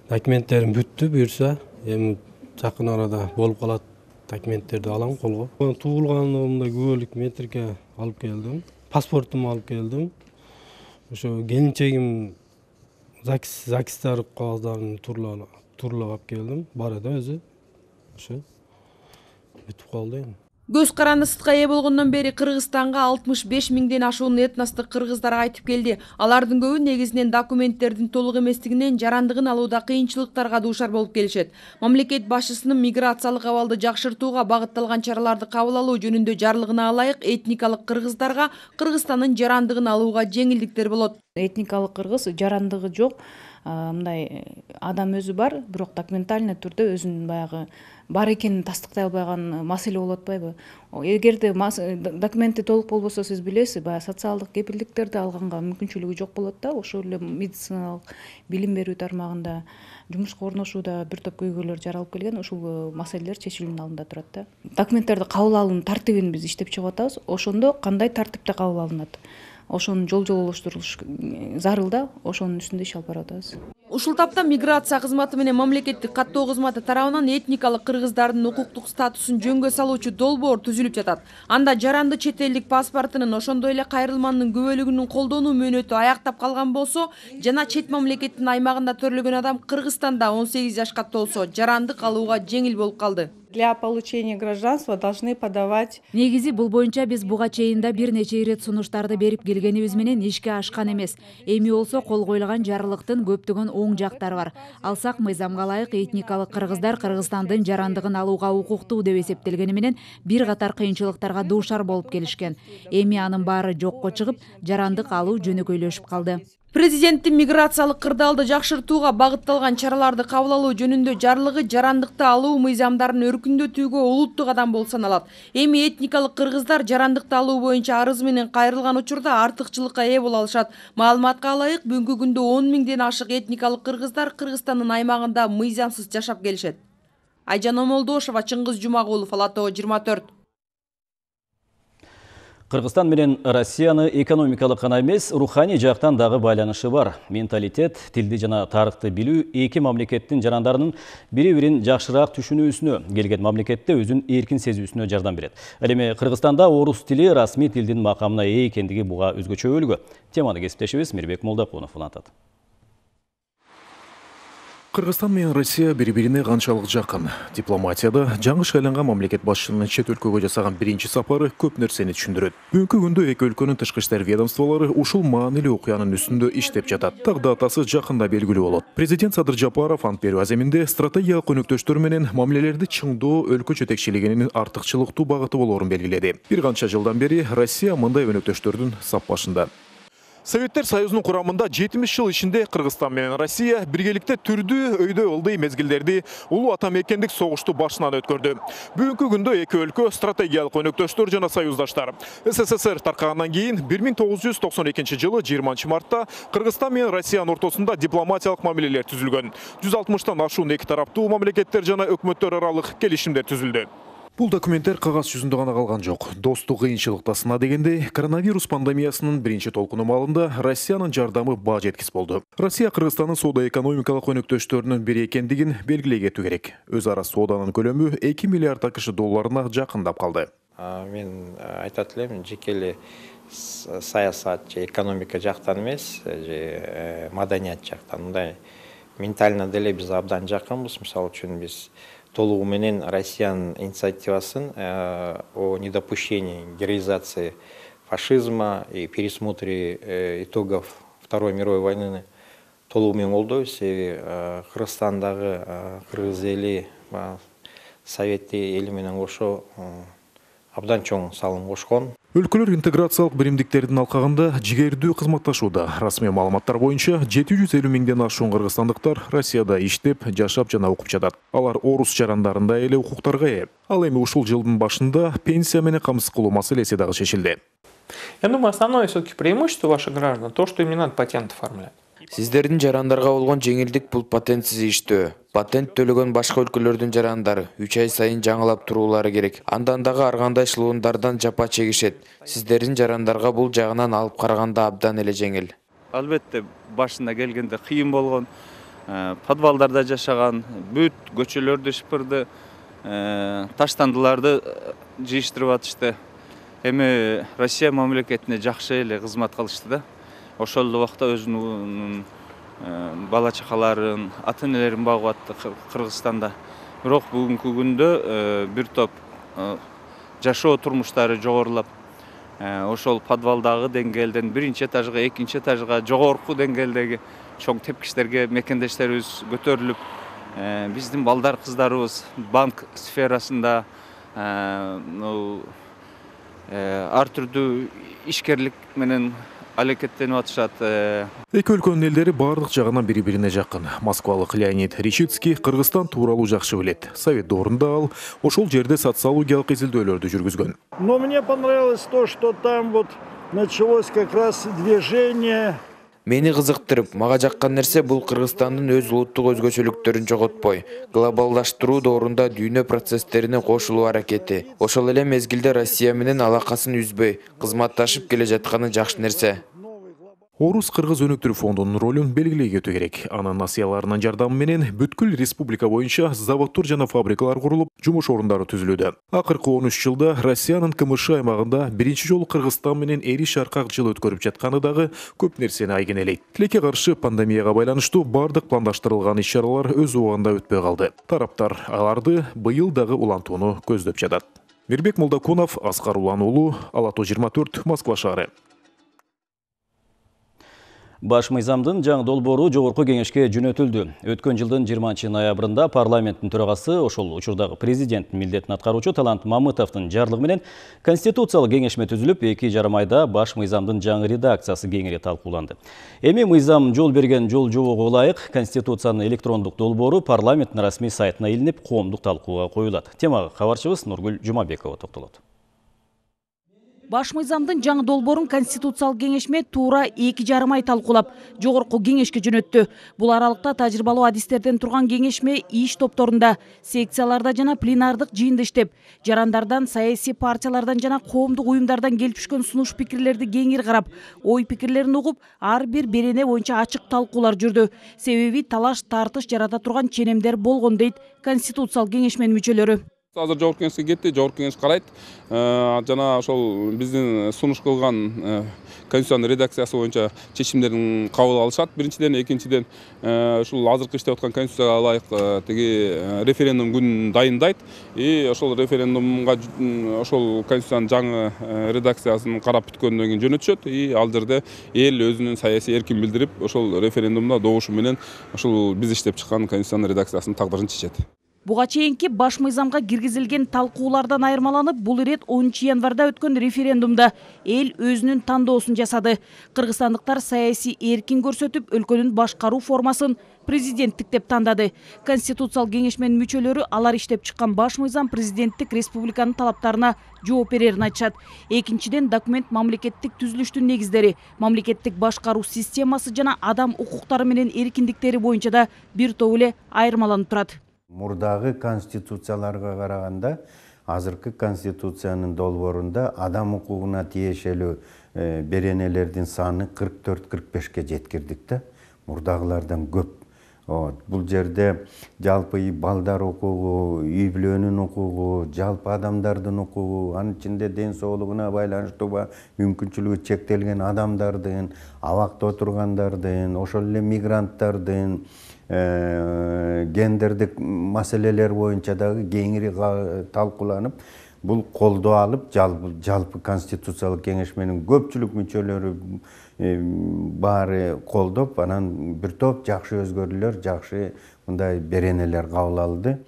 Документтерим бүттү, буюрса, эми жакын арада болуп калат. Документтерди алам колго. Туулгандыгымда күбөлүк метрикке алып келдим. Паспортумду алып келдим. Ошо келинчегим ЗАГСтар кагаздарын турлап алып келдим. Бар эди өзү. Ошо бүтүп калды эми. Көз каранды сытка ээ болгондон бери Кыргызстанга 65 миңден ашуун этностук кыргыздар кайтып келди. Алардын көбү негизинен документтердин толук эместигинен жарандыгын алууда кыйынчылыктарга дуушар болуп келишет. Мамлекет башчысынын миграциялык абалды жакшыртууга багытталган чараларды кабыл алуу жөнүндө жарлыгына ылайык этникалык кыргыздарга Кыргызстандын жарандыгын алууга жеңилдиктер болот. Этникалык кыргыз жарандыгы жок, мындай адам өзү бар, бирок документальный түрдө өзүнүн баягы бар экенин тастыктай албаган маселе болуп атпайбы? Эгерде документи толук болбосо, сиз билесиз, баягы социалдык кепилдиктерди алганга мүмкүнчүлүгү жок болот да. Ошол эле медициналык билим берүү тармагында, жумушка орношууда бир топ көйгөйлөр жаралып келген, ушул маселелер чечилүүнүн алдында турат да. Документтерди кабыл алуунун тартибин биз иштеп чыгып атабыз. Ошондо кандай тартипте кабыл алынат? Ошонун жол-жолоштурулуш зарыл да, ошонун үстүндө иш алып барып атабыз. Ушул тапта миграция кызматы менен мамлекеттик каттоо кызматы тарабынан этникалык кыргыздардын укуктук статусун жөнгө салуучу долбоор түзүлүп жатат. Анда жаранды чет элдик паспортунун, ошондой эле кайрылманын күбөлүгүнүн колдонуу мөөнөтү аяктап калган болсо жана чет мамлекеттин аймагында төрөлгөн адам Кыргызстанда 18 жашка толсо жарандык алууга жеңил болуп калды. Для получения гражданства должны подавать. Негизи бул боюнча биз буга чейин да бир нече ирет сунуштарды берип келгенибиз менен ишке ашкан эмес. Эми болсо кол коюлган жарлыктын көптөгөн оң жактары бар. Алсак мыйзамга ылайык этникалык кыргыздар Кыргызстандын жарандыгын алууга укуктуу деп эсептелгени менен бир катар кыйынчылыктарга дуушар болуп келишкен. Эми анын баары жокко чыгып, жарандык алуу жөнөкөйлөшүп калды. Президенттин миграциялык кырдаалды жакшыртууга багытталган чараларды кабыл алуу жөнүндө жарлыгы жарандыкты алуу мыйзамдарын өркүндөтүүгө улуттук кадам болуп саналат. Эми этникалык кыргыздар жарандыкты алуу боюнча арыз менен кайрылган учурда артыкчылыкка ээ боло алышат. Маалыматка ылайык, бүгүнкү күндө 10 миңден ашык этникалык кыргыздар Кыргызстандын аймагында мыйзамсыз жашап келишет. Айжан Омолдошова, Чыңгыз Жумагулов, Ала Тоо 24. Кыргызстан менен Россияны экономикалык гана эмес, руханий жактан дагы байланышы бар. Менталитет, тилди жана тарыхты билүү эки мамлекеттин жарандарынын бири-бирин жакшыраак түшүнүүсүнө, келген мамлекетте өзүн эркин сезүүсүнө жардам берет. Ал эми Кыргызстанда орус тили расмий тилдин макамына ээ экендиги буга өзгөчө өлгө. Теманы кесиптешибиз Мирбек Молдокунов улантат. Кыргызстан менен Россия бири-бирине канчалык жакын. Дипломатияда жаңышка айланган мамлекет башчынын чет өлкөгө жасаган биринчи сапары көп нерсени түшүндүрөт. Бүгүнкү күндө эки өлкөнүн тышкы иштер ведомстволору ушул маанилүү окуянын үстүндө иштеп жатат. Так датасы жакында белгилүү болот. Президент Садыр Жапаров ант берүү аземинде стратегиялык өнөктөштөр менен мамилелерди чыңдоо өлкө жетекчилигинин артыкчылыктуу багыты болоорун белгиледи. Бир канча жылдан бери Россия мындай өнөктөштөрдүн сап башында. Советтер Союзунун курамында 70 жыл ичинде Кыргызстан менен Россия биргеликте түрдүү өйдө ылдый мезгилдерди улуу ата мекендик согушту башынан өткөрдү. Бүгүнкү күндө эки өлкө стратегиялык өнөктөштөр жана союздаштар. СССР таркагандан кийин 1992 жылы 20 мартта Кыргызстан менен Россиянын ортосунда дипломатиялык мамилелер түзүлгөн. 160тан ашуун эки тараптуу мамлекеттер жана өкмөттөр аралык келишимдер түзүлдү. Бул документтер кагаз жүзүндө гана калган жок. Достук кыйынчылыкта сына дегендей, коронавирус пандемиясынын биринчи толкуну маалында Россиянын жардамы баа жеткис болду. Россия Кыргызстандын соода-экономикалык өнөктөштөрүнүн бири экендигин белгилей кетүү керек. Өз ара сооданын көлөмү 2 миллиард АКШ долларына жакындап калды. Мен айтат элем, жеке эле саясат же экономика жактан эмес, же маданият жактан, мындай ментально деле биз абдан жакынбыз. Мисалы үчүн биз толугу менен Россиянын инициативасын о недопущении героизации фашизма и пересмотре итогов Второй мировой войны толугу менен колдойбуз. Себеби Кыргызстандагы кыргыз эли Совет эли менен кошо абдан чоң салым кошкон. Өлкөлөр интеграциялык биримдиктердин алкагында жигердүү кызматташууда. Расмий маалыматтар боюнча 750 миңден ашуун кыргызстандыктар Россияда иштеп, жашап жана окуп жатат. Алар орус жарандарында эле укуктарга ээ. Ал эми ушул жылдын башында пенсия менен камсыз кылуу маселеси дагы чечилди. Я думаю, основное все-таки преимущество ваших граждан то, что им не надо патент оформлять. Сиздердин жарандарга болгон жеңилдик бул патентсиз иштөө. Патент төлөгөн башка өлкөлөрдүн жарандары 3 ай сайын жаңылап туруулары керек. Андан дагы ар кандай эшелондардан жапа чегишет. Сиздердин жарандарга бул жагынан алып караганда абдан эле жеңил. Албетте башында келгенде кыйын болгон, подвалдарда жашаган, бүт көчөлөрдү шыпырды, таштандыларды жыйыштырып атышты. Эми Россия мамлекетине жакшы эле кызмат кылышты да. Ошол убакта өзүнүн бала чакаларын, ата-энелерин багып атты Кыргызстанда. Бирок бүгүнкү күндө бир топ жашоо турмуштары жогорулап, ошол подвалдагы деңгээлден биринчи этажга, экинчи этажга, жогорку деңгээлдеги чоң тепкичтерге мекендештерибиз көтөрүлүп, биздин балдар кыздарыбыз банк сферасында ар түрдүү ишкерлик менен аракеттенип атышат. Эки өлкөнүн элдери бардык жагынан бири-бирине жакын. Москвалык Леонид Ришицкий Кыргызстан тууралуу жакшы билет. Совет доорунда ал ошол жерде социологиялык изилдөөлөрдү жүргүзгөн. Но мне понравилось то, что там вот началось как раз движение. Мени кызыктырып, мага жаккан нерсе бул Кыргызстандын өз улуттук өзгөчөлүктөрүн жоготпой, глобалдаштыруу доорунда дүйнө процесстерине кошулуу аракети. Ошол эле мезгилде Россия менен алакасын үзбөй, кызматташып келе жатканы жакшы нерсе. Орус-Кыргыз өнөктүрүү фондунун ролун белгилей кетүү керек. Анын насыяларынын жардамы менен бүткүл республика боюнча заводдор жана фабрикалар курулуп, жумуш орундары түзүлүүдө. Акыркы 13 жылда Россиянын КМШ аймагында биринчи жолу Кыргызстан менен эриш аркак жыл өткөрүп жатканы дагы көп нерсени айгинелейт. Тилекке каршы пандемияга байланыштуу бардык пландаштырылган иш-чаралар өз убагында өтпөй калды. Тараптар аларды быйыл дагы улантууну көздөп жатат. Мирбек Молдокунов, Аскар Улан уулу, Ала тоо 24, Москва шаары. Баш мыйзамдын жаңы долбоору жогорку кеңешке жөнөтүлдү. Өткөн жылдын 20 ноябрында парламенттин төрагасы ошол учурдагы президенттин милдетин аткаруучу Талант Мамытовдун жарлыгы менен конституциялык кеңешме түзүлүп, 2,5 айда баш мыйзамдын жаңы редакциясы кеңири талкууланды. Эми мыйзам жол берген жол жобого ылайык конституциянын электрондук долбоору парламенттин расмий сайтына илинип, коомдук талкууга коюлат. Темага кабарчыбыз Нургүл Жумабекова токтолот. Баш мыйзамдын жаңы долбоорун конституциялык кеңешме туура 2,5 ай талкуулап, жогорку кеңешке жөнөттү. Бул аралыкта тажрыйбалуу адистерден турган кеңешме иш топторунда, секцияларда жана пленардык жыйында иштеп, жарандардан, саясий партиялардан жана коомдук уюмдардан келип түшкөн сунуш пикирлерди кеңири карап, ой пикирлерин угуп, ар бир берене боюнча ачык талкуулар жүрдү. Себеби талаш тартыш жарата турган ченемдер болгон дейт конституциялык кеңешменин мүчөлөрү. Азыр жогорку кеңешке кетти, жогорку кеңеш карайт. Жана ошол биздин сунуш кылган конституциянын редакциясы боюнча чечимдерин кабыл алышат. Биринчиден, экинчиден ушул азыркы иштеп аткан конституцияга ылайык тиги референдум күнүн дайындайт. И ошол референдумга ошол конституциянын жаңы редакциясын карап бүткөндөн кийин жөнөтүшөт. И ал жерде эл өзүнүн саясий эркин билдирип, ошол референдумда добушу менен ошол биз иштеп чыккан конституциянын редакциясынын тагдырын чечет. Буга чейинки баш мыйзамга киргизилген талкуулардан айырмаланып, бул ирет 10 январда өткөн референдумда эл өзүнүн тандоосун жасады. Кыргызстандыктар саясий эркин көрсөтүп, өлкөнүн башкаруу формасын президенттик деп тандады. Конституциялык кеңешменин мүчөлөрү алар иштеп чыккан баш мыйзам президенттик республиканын талаптарына жооп берерин айтышат. Экинчиден, документ мамлекеттик түзүлүштүн негиздери, мамлекеттик башкаруу системасы жана адам укуктары менен эркиндиктери боюнча да бир топ эле айырмаланып турат. Мурдагы конституцияларга караганда азыркы конституциянын долбоорунда адам укугуна тиешелүү беренелердин саны 44-45ке жеткирдик да. Мурдагылардан көп. Бул жерде жалпы балдар укугу, үй бүлөнүн укугу, жалпы адамдардын укугу, анын ичинде ден соолугуна байланыштуу мүмкүнчүлүгү чектелген адамдардын, абакта отургандардын, ошол эле мигранттардын, гендердик маселелер боюнча дагы кеңири талкууланып, бул колдоо алып, жалпы конституциялык кеңешменин көпчүлүк мүчөлөрү баары колдоп, анан бир топ жакшы өзгөрүүлөр, жакшы мындай беренелер кабыл алды.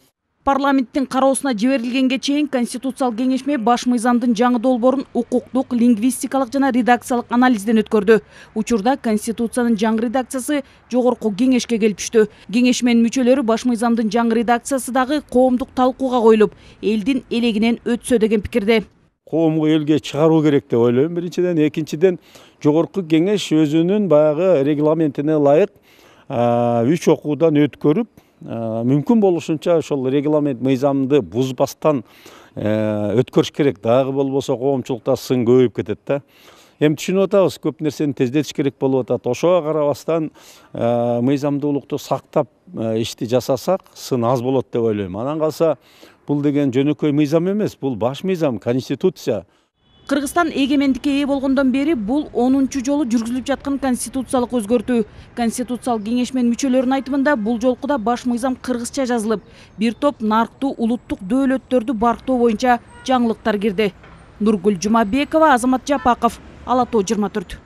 Парламенттин кароосуна жиберилгенге чейин конституциялык кеңешме баш мыйзамдын жаңы долбоорун укуктук, лингвистикалык жана редакциялык анализден өткөрдү. Учурда конституциянын жаңы редакциясы жогорку кеңешке келип түштү. Кеңешменин мүчөлөрү баш мыйзамдын жаңы редакциясы дагы коомдук талкууга коюлуп, элдин элегинен өтсө деген пикирде. Коомго элге чыгаруу керек деп ойлойм. Биринчиден, экинчиден, жогорку кеңеш өзүнүн баягы регламентине ылайык 3 окуудан өткөрүп, мүмкүн болушунча ошол регламент мыйзамды бузбастан өткөрүш керек. Дагы болбосо коомчулукта сын көбөйүп кетет да. Эми түшүнүп атабыз, көп нерсени тездетиш керек болуп атат. Ошого карабастан мыйзамдуулукту сактап ишти жасасак, сын аз болот деп ойлойм. Анан калса, бул деген жөнөкөй мыйзам эмес, бул баш мыйзам, конституция. Кыргызстан эгемендикке ээ болгондон бери бул 10-чу жолу жүргүзүлүп жаткан конституциялык өзгөртүү. Конституциялык кеңешменин мүчөлөрүнүн айтымында бул жолку да баш мыйзам кыргызча жазылып, бир топ нарктуу улуттук дөөлөттөрдү барктоо боюнча жаңылыктар кирди. Нургүл Жумабекова, Азамат Жапаков, Ала Тоо 24.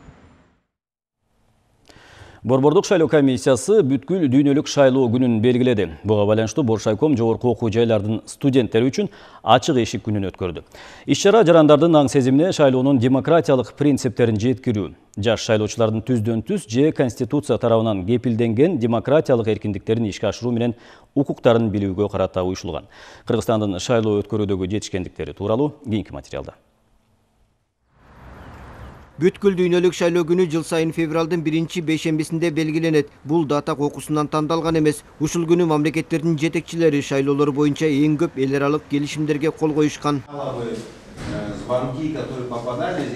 Борбордук шайлоо комиссиясы бүткүл дүйнөлүк шайлоо күнүн белгиледи. Буга байланыштуу Боршайком жогорку окуу жайлардын студенттери үчүн ачык эшик күнүн өткөрдү. Иш-чара жарандардын аң сезимине шайлоонун демократиялык принциптерин жеткирүү, жаш шайлоочулардын түздөн-түз же Конституция тарабынан кепилденген демократиялык эркиндиктерин ишке ашыруу менен укуктарын билүүгө карата уюшулган. Кыргызстандын шайлоо өткөрүүдөгү жетишкендиктери тууралуу кийинки материалда. Бүткүл дүйнөлүк шайлоо күнү жыл сайын февралдын 1-бейшембисинде белгиленет. Бул дата кокусунан тандалган эмес. Ушул күнү мамлекеттердин жетекчилери шайлоолор боюнча эң көп эл аралык келишимдерге кол коюшкан.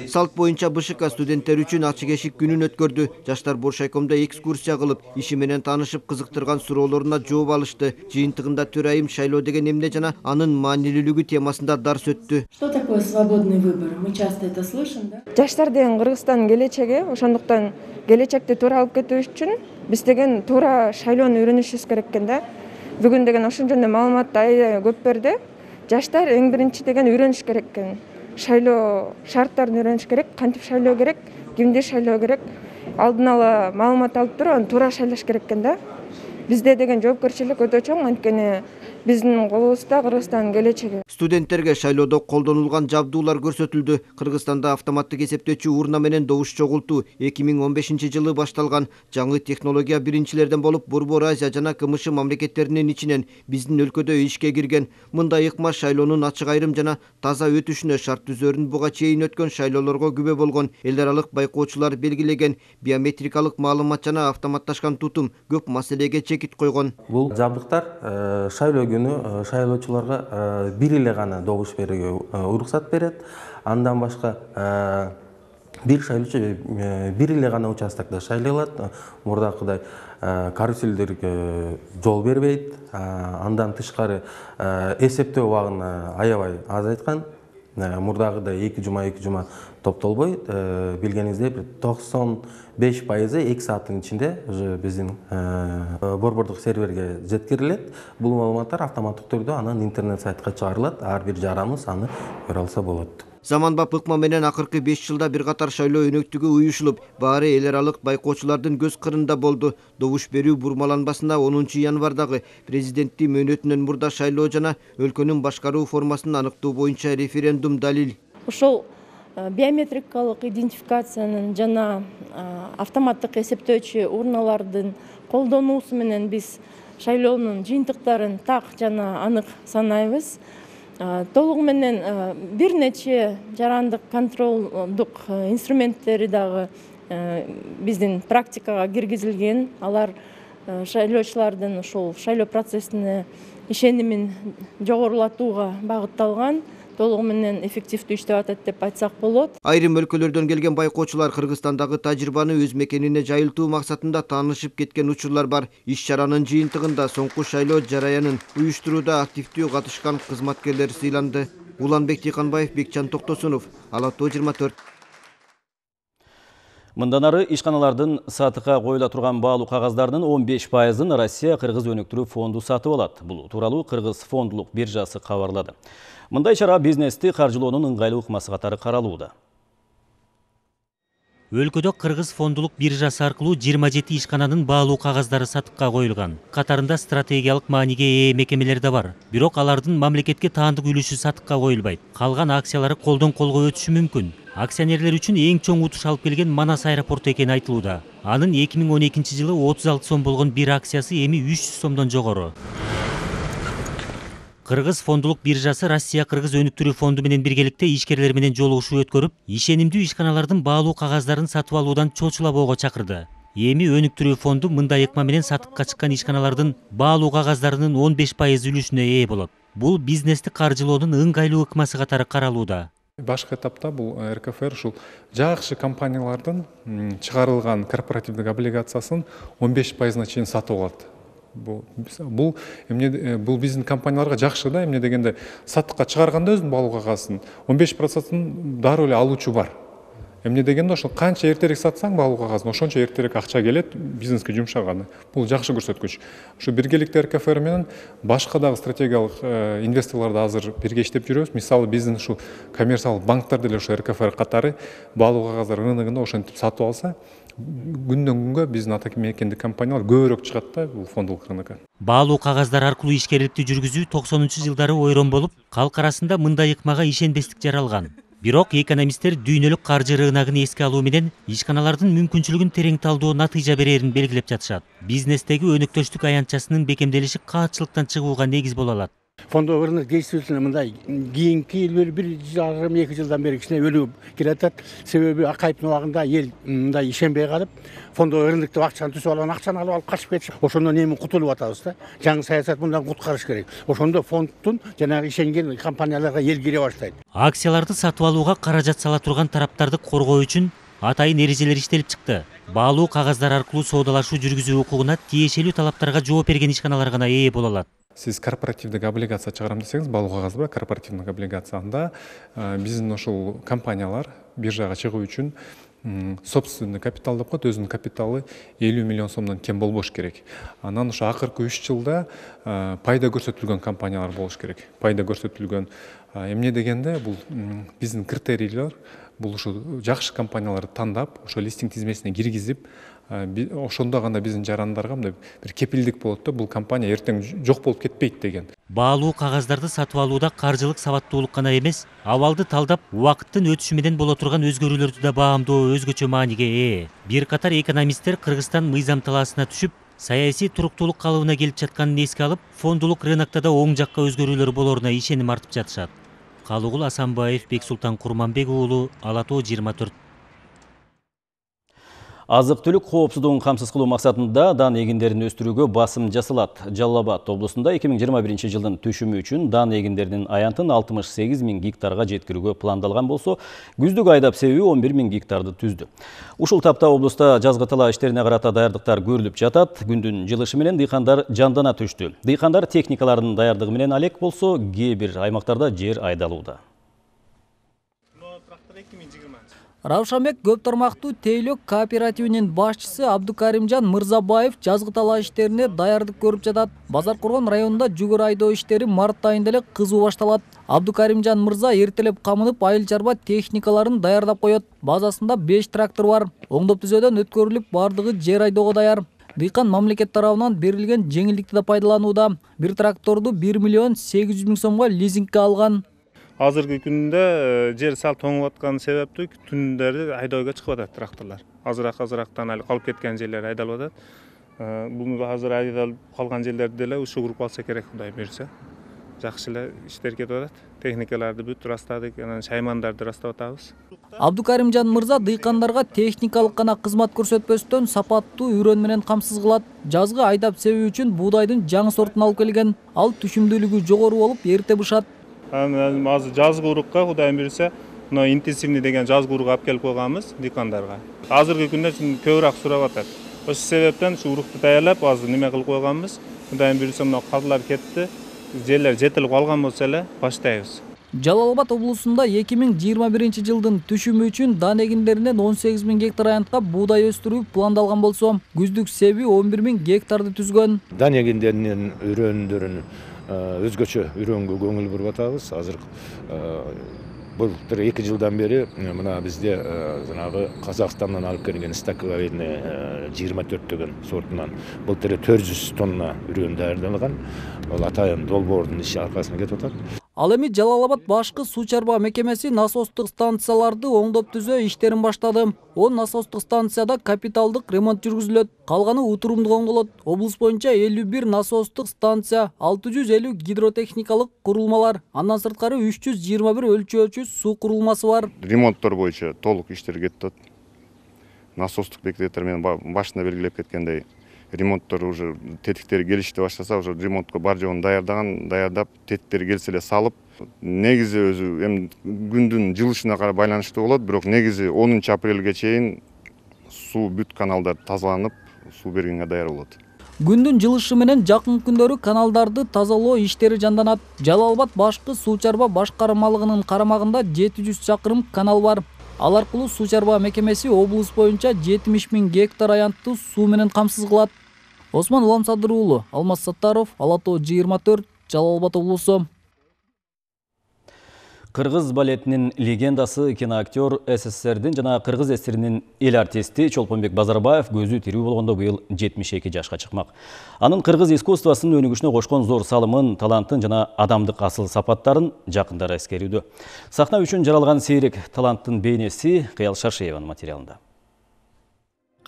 Салт боюнча БШК студенттер үчүн ачык эшик күнүн өткөрдү. Жаштар Боршайкомдо экскурсия кылып, иши менен таанышып, кызыктырган суроолоруна жооп алышты. Жыйынтыгында төрайым шайлоо деген эмне жана анын маанилүүлүгү темасында дарс өттү. Что такое свободный выбор? Мы часто это слышим, да? Жаштар деген Кыргызстан келечеги, ошондуктан келечекти туура алып кетүү үчүн биз деген туура шайлоону үйрөнүшүбүз керек экен да. Бүгүн деген ошон жөнүндө маалыматты аябай көп берди. Жаштар эң биринчи деген үйрөнүш керек экен. Шайлоо шарттарын үйрөнүш керек, кантип шайлоо керек, кимди шайлоо керек, алдын ала маалымат алып туруп, аны туура шайлаш керек экен да. Бизде деген жоопкерчилик өтө чоң, анткени биздин колубузда Кыргызстандын келечеги. Студенттерге шайлоодо колдонулган жабдуулар көрсөтүлдү. Кыргызстанда автоматтык эсептөөчү урна менен добуш чогултуу 2015-жылы башталган. Жаңы технология биринчилерден болуп Борбор Азия жана КМШ мамлекеттеринин ичинен биздин өлкөдө ишке кирген. Мындай ыкма шайлоонун ачык айрым жана таза өтүшүнө шарт түзөрүн буга чейин өткөн шайлоолорго күбө болгон. Эл аралык байкоочулар белгилеген биометрикалык маалымат жана автоматташкан тутум көп маселеге чекит койгон. Бул жабдыктар шайлоо күнү шайлоочуларга бир эле гана добуш берүүгө уруксат берет. Андан башка бир шайлоочу бир эле гана участокто шайлай алат. Мурдакыдай каруселдерге жол бербейт. Андан тышкары эсептөө убагын аябай азайткан. Мурдагыдай 2 жума топтолбой, билгениңиздей 95% 2 сааттын ичинде уже биздин борбордук серверге жеткирилет. Бул маалыматтар автоматтык түрдө анан интернет сайтка чыгарылат. Ар бир жараныбыз аны көрө алса болот. Заманбап ыкма менен акыркы 5 жылда бир катар шайлоо өнөктүгү уюшулуп, баары эл аралык байкоочулардын көз кырында болду. Добуш берүү бурмаланбасында 10 январдагы президенттин мөөнөтүнөн мурда шайлоо жана өлкөнүн башкаруу формасын аныктоо боюнча референдум далил. Ошол биометрикалык идентификациянын жана автоматтык эсептөөчү урналардын колдонуусу менен биз шайлоонун жыйынтыктарын так жана анык санайбыз. Толугу менен бир нече жарандык контролдук инструменттери дагы биздин практикага киргизилген. Алар шайлоочулардын ушул шайлоо процессине ишенимин жогорулатууга багытталган. Толугу менен эффективдүү иштеп атат деп айтсак болот. Айрым өлкөлөрдөн келген байкоочулар Кыргызстандагы тажрыйбаны өз мекенине жайылтуу максатында таанышып кеткен учурлар бар. Иш-чаранын жыйынтыгында соңку шайлоо жараянын уюштурууда активдүү катышкан кызматкерлер сыйланды. Уланбек Тыйканбаев, Бекчан Токтосунов, Ала Тоо 24. Мындан ары ишканалардын сатыкка коюла турган баалуу кагаздардын 15%-ын Россия Кыргыз өнүктүрүү фонду сатып алат. Бул тууралуу Кыргыз фондлук биржасы кабарлады. Мындай чара бизнести каржылоонун ыңгайлуу ыкмасы катары каралууда. Өлкөдө Кыргыз фондулук биржасы аркылуу 27 ишкананын баалуу кагаздары сатыкка коюлган. Катарында стратегиялык мааниге ээ мекемелер да бар. Бирок алардын мамлекетке таандык үлүшү сатыкка коюлбайт. Калган акциялары колдон колго өтүшү мүмкүн. Акционерлер үчүн эң чоң утуш алып келген Манас аэропорту экени айтылууда. Анын 2012-жылы 36 сом болгон бир акциясы эми 300 сомдон жогору. Кыргыз фондулук биржасы Россия Кыргыз өнүктүрүү фонду менен биргеликте ишкерлер менен жолугушуу өткөрүп, ишенимдүү ишканалардын баалуу кагаздарын сатып алуудан чочулабоого чакырды. Эми өнүктүрүү фонду мындай ыкма менен сатыкка чыккан ишканалардын баалуу кагаздарынын 15% үлүшүнө ээ болот. Бул бизнести каржылоонун ыңгайлуу ыкмасы катары каралууда. Башкы этапта бул РКФР ушул жакшы компаниялардын чыгарылган корпоративдик облигациясын 15%-на чейин сатып алат. Бул биздин компанияларга жакшы да, эмне дегенде сатыкка чыгарганда өзүнүн балуу кагасын 15%-ын дароо эле алуучу бар. Эмне дегенде ошол канча эртерээк сатсаң балуу кагазын ошончо эртерээк акча келет бизнеске жумшаганы. Бул жакшы көрсөткүч. Ушу биргеликте РКФР менен башка дагы стратегиялык инвесторлорду азыр бирге иштеп жүрөбүз. Мисалы биздин ушу коммерциялык банктар деле ушу РКФР катары балуу кагаздар рыногунда ошентип сатып алса, күндөн күнгө биздин ата мекендик компаниялар көбүрөөк чыгат да бул фондулук рынокко. Баалуу кагаздар аркылуу ишкерликти жүргүзүү 90-жылдары ойрон болуп, калк арасында мындай ыкмага ишенбестик жаралган. Бирок экономисттер дүйнөлүк каржы рыногун эске алуу менен ишканалардын мүмкүнчүлүгүн терең талдоо натыйжа берерин белгилеп жатышат. Бизнестеги өнөктөштүк аянтчасынын бекемделиши каатчылыктан чыгууга негиз боло алат. Фондовый рынок действительно мындай кийинки 1,5-2 жылдан бери кичине өлүп келатат. Себеби акайыптын убагында эл мындай ишенбей калып, фондовый рыноктон акчаны түсүп алган, акчаны алып качып кетишет. Ошондон эми кутулуп атабыз да. Жаңы саясат мындан куткарыш керек. Ошондо фонддун жанагы ишенген компанияларга эл кире баштайт. Акцияларды сатып алууга каражат сала турган тараптарды коргоо үчүн атайын эрежелер иштелип чыкты. Баалуу кагаздар аркылуу соодалашуу жүргүзүү укугуна тиешелүү талаптарга жооп берген ишканалар гана ээ боло алат. Сиз корпоративдик облигация чыгарам десеңиз, балуу кагаз бар, корпоративдик облигацияда биздин ошол компаниялар биржага чыгуу үчүн собственный капитал деп коет, өзүнүн капиталы 50 миллион сомдон кем болбош керек. Анан ошо акыркы 3 жылда пайда көрсөтүлгөн компаниялар болуш керек. Пайда көрсөтүлгөн эмне дегенде бул биздин критерийлер, бул ушу жакшы компанияларды тандап, ошо листинг тизмесине киргизип, ошондо гана биздин жарандарга мындай бир кепилдик болот да, бул компания эртең жок болуп кетпейт деген. Баалуу кагаздарды сатып алууда каржылык сабаттуулук гана эмес, абалды талдап, убакыттын өтүшү менен боло турган өзгөрүүлөрдү да баамдоо өзгөчө мааниге ээ. Бир катар экономисттер Кыргызстан мыйзам талаасына түшүп, саясий туруктуулук калыбына келип жатканын эске алып, фондулук рынокто да оң жакка өзгөрүүлөр болоруна ишеним артып жатышат. Калыгул Асанбаев, Бексултан Курманбек уулу, Ала Тоо 24. Азык-түлүк коопсуздугун камсыз кылуу максатында дан эгиндерин өстүрүүгө басым жасалат. Жалал Абад облусунда 2021 жылдын түшүмү үчүн дан эгиндеринин аянтын 68 000 гектарга жеткирүүгө пландалган болсо, күздүк айдап себүү 11 000 гектарды түздү. Ушул тапта облуста жазгы тала иштерине карата даярдыктар көрүлүп жатат. Күндүн жылышы менен дыйкандар жандана түштү. Дыйкандар техникаларынын даярдыгы менен алек болсо, кээ бир аймактарда жер айдалууда. Равшанбек көп тармактуу тейлөк кооперативинин башчысы Абдукаримжан Мырзабаев жазгы тала иштерине даярдык көрүп жатат. Базар Кургон районунда жүгөр айдоо иштери март айында эле кызуу башталат. Абдукаримжан Мырза эртелеп камынып, айыл чарба техникаларын даярдап коет. Базасында 5 трактор бар. Оңдоп түзөөдөн өткөрүлүп, бардыгы жер айдоого даяр. Дыйкан мамлекет тарабынан берилген жеңилдикти да пайдаланууда. Бир тракторду 1 миллион 800 000 сомго лизингке алган. Азыркы күндө жер сал тоңуп аткан себептүү түндөрү айдоого чыгып атат тракторлор. Азыраактан али калып кеткен жерлер айдалып атат. Бул азыр айдалып калган жерлерди деле ушул куруп алса керек, Кудай буйрса. Жакшы эле иштер кетип атат. Техникаларды бүт растадык, анан шаймандарды растап атабыз. Абдукаримжан Мырза дыйкандарга техникалык гана кызмат көрсөтпөстөн сапаттуу үйрөн менен камсыз кылат. Жазгы айдап себүү үчүн буудайдын жаңы сортун алып келген. Ал түшүмдүүлүгү жогору болуп, эрте бышат. Азыр жазгы урукка Кудай буйрса, мына интенсивный деген жазгы урук алып келип койганбыз дыйкандарга. Азыркы күндө көбүрөөк сурап атат. Ошол себептен ушу урукту даярлап, азыр неме кылып койганбыз. Кудай буйрса, мына кадрлар кетти. Жерлер жетилип калган болсо эле баштайбыз. Жалал Абад облусунда 2021 жылдын түшүмү үчүн дан эгиндеринен 18 000 гектар аянтка буудай өстүрүү пландалган болсо, күздүк себүү 11 000 гектарды түзгөн. Дан эгиндеринин үрөндөрүн өзгөчө үрөнгө көңүл буруп атабыз. Азыр былтыр 2 жылдан бери мына бизде жанагы Казакстандан алып келген стаковарный 24 деген сортунан былтыр 400 тонна үрөн даярдалган. Ал атайын долбоордун иши аркасында кетип атат. Ал эми Жалал Абад башкы суу чарба мекемеси насостук станцияларды оңдоп түзөө иштерин баштады. 10 насостук станцияда капиталдык ремонт жүргүзүлөт. Калганы утурумдуу оңдолот. Облус боюнча 51 насостук станция, 650 гидротехникалык курулмалар, андан сырткары 321 өлчөөчү суу курулмасы бар. Ремонттор боюнча толук иштер кетип атат. Насостук бекеттер менен башында белгилеп кеткендей ремонттор уже тетиктери келишти баштаса, уже ремонтко бар жогун даярдап, тетиктери келсе эле салып, негизи өзү эми күндүн жылышына карай байланыштуу болот, бирок негизи 10 апрелге чейин суу бүт каналдар тазаланып, суу бергенге даяр болот. Күндүн жылышы менен жакын күндөрү каналдарды тазалоо иштери жанданат. Жалал-Абад башкы суу чарба башкармалыгынын карамагында 700 чакырым канал бар. Ал аркылуу суу чарба мекемеси облус боюнча 70 000 гектар аянтты суу менен камсыз кылат. Осман Уламсадыр уулу, Алмаз Саттаров, Ала Тоо 24, Жалал-Абад облусу. Кыргыз балетинин легендасы киноактер СССРдин жана кыргыз эсиринин эл артисти Чолпонбек Базарбаев көзү тирүү болгондо быйыл 72 жашка чыкмак. Анын кыргыз искусствосунун өнүгүшүнө кошкон зор салымын, талантын жана адамдык асыл сапаттарын жакындары эскерүүдө. Сахна үчүн жаралган сейрек таланттын бейнеси Кыял Шаршееванын материалында.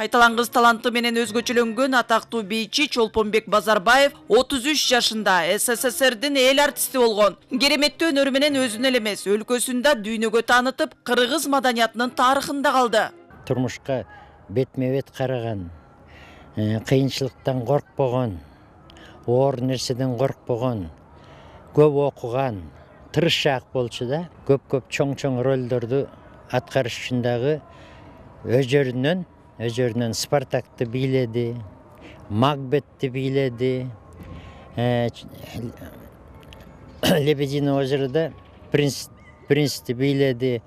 Кайталангыс таланты менен өзгөчөлөнгөн атактуу бийчи Чолпонбек Базарбаев 33 жашында СССРдин эл артисти болгон. Кереметтүү өнөрү менен өзүн эле эмес, өлкөсүндө дүйнөгө таанытып, кыргыз маданиятынын тарыхында калды. Турмушка бетме-бет караган, кыйынчылыктан коркпогон, оор нерседен коркпогон, көп окуган, тырышчаак болчу да. Көп чоң ролдорду аткарыш үчүн дагы өжөрүнөн Спартакты бийледи, Макбетти бийледи, Лебединое озерода Принцти бийледи.